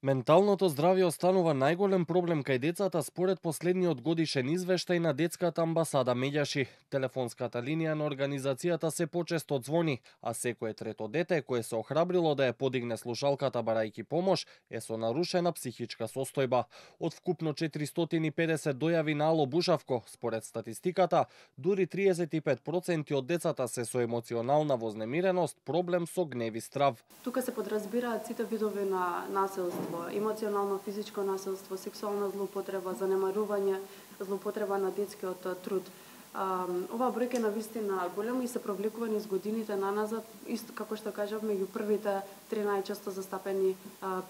Менталното здравје останува најголем проблем кај децата според последниот годишен извештај на Детската амбасада Меѓаши. Телефонската линија на организацијата се почесто ѕвони, а секое трето дете кое се охрабрило да ја подигне слушалката барајќи помош е со нарушена психичка состојба. Од вкупно 450 дојави на Ало Бушавко, според статистиката, дури 35% од децата се со емоционална вознемиреност, проблем со гнев и страв. Тука се подразбираат сите видови на насилство: емоционално, физичко насилство, сексуална злоупотреба, занемарување, злоупотреба на детскиот труд. Оваа бројка е навистина голема и се провлекува низ годините наназад, исто како што кажавме, меѓу првите 3 најчесто застапени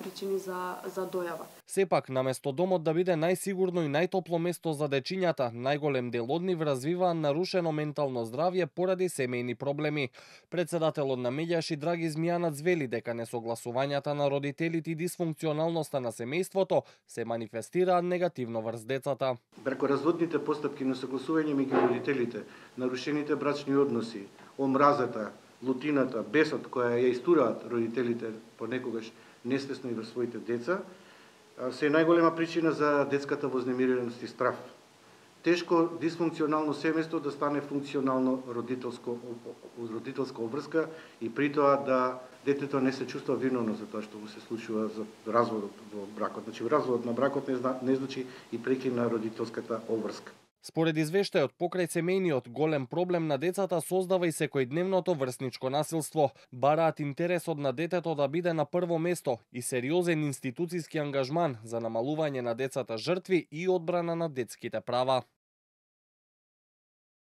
причини за дојава. Сепак, наместо домот да биде најсигурно и најтопло место за дечињата, најголем дел од нив развиваа нарушено ментално здравје поради семејни проблеми. Председателот на Меѓаши Драги Змијанац вели дека несогласувањата на родителите и дисфункционалноста на семејството се манифестираат негативно врз децата. Преку разводните постапки на согласување меѓу родителите, нарушените брачни односи, омразата, лутината, бесот која ја истураат родителите понекогаш несвесно и врз своите деца, се најголема причина за детската вознемиреност и страв. Тешко дисфункционално семејство да стане функционално родителска обврска и при тоа да детето не се чувства виновно за тоа што му се случува за разводот во бракот. Значи, разводот на бракот не значи и прекин на родителската обврска. Според извештајот, покрај семејниот голем проблем на децата создава и секојдневното врсничко насилство. Бараат интересот на детето да биде на прво место и сериозен институциски ангажман за намалување на децата жртви и одбрана на детските права.